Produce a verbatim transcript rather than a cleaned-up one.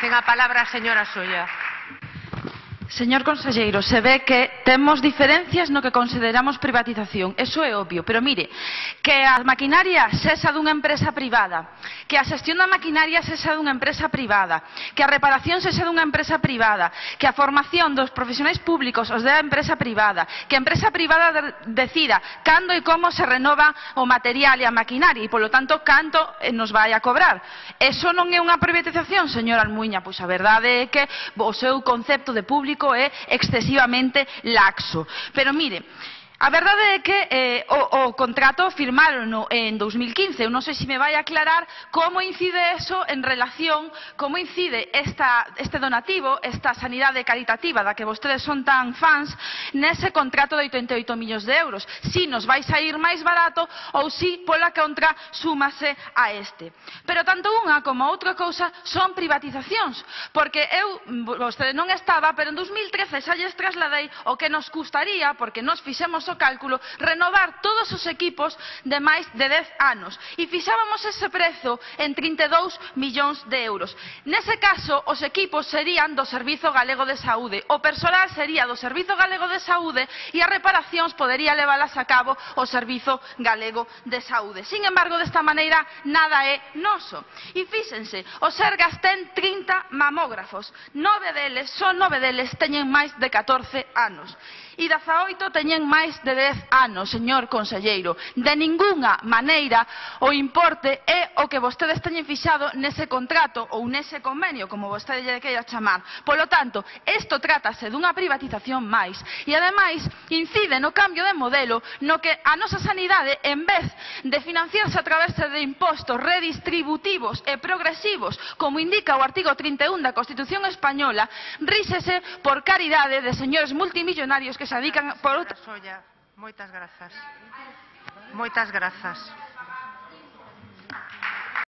Ten a palabra a señora Solla. Señor conselleiro, se ve que temos diferencias no que consideramos privatización, eso é obvio, pero mire, que a maquinaria sexa dunha empresa privada, que a xestión da maquinaria sexa dunha empresa privada, que a reparación sexa dunha empresa privada, que a formación dos profesionais públicos os dé a empresa privada, que a empresa privada de decida cando e como se renova o material e a maquinaria e, polo tanto, canto nos vai a cobrar. Eso non é unha privatización, señor Almuíña? Pois a verdade é que o seu concepto de público é excesivamente laxo. Pero mire, a verdade é que eh, o, o contrato firmaron en dos mil quince. Eu non sei se me vai aclarar como incide eso en relación, como incide esta, este donativo, esta sanidade caritativa da que vostedes son tan fans, nese contrato de oitenta e oito millóns de euros. Si nos vai sair máis barato ou si pola contra súmase a este. Pero tanto unha como a outra cousa son privatizacións, porque eu, vostede non estaba, pero en dos mil trece xa lles trasladei o que nos custaría, porque nos fixemos o cálculo, renovar todos os equipos de máis de dez anos e fixábamos ese prezo en trinta e dous millóns de euros. Nese caso, os equipos serían do Servizo Galego de Saúde, o persoal sería do Servizo Galego de Saúde e as reparacións podería levalas a cabo o Servizo Galego de Saúde. Sin embargo, desta maneira, nada é noso. E fíxense, o Sergas ten trinta mamógrafos, nove deles, son nove deles, teñen máis de catorce anos. E dezaoito teñen máis de dez anos, señor conselleiro. De ningunha maneira o importe é o que vostedes teñen fixado nese contrato ou nese convenio, como vostede lle queira chamar. Polo tanto, isto trátase dunha privatización máis e, ademais, incide no cambio de modelo no que a nosa sanidade, en vez de financiarse a través de impostos redistributivos e progresivos, como indica o artigo trinta e un da Constitución Española, ríxese por caridade de señores multimillonarios que se dedican por outra... Moitas grazas. Moitas grazas.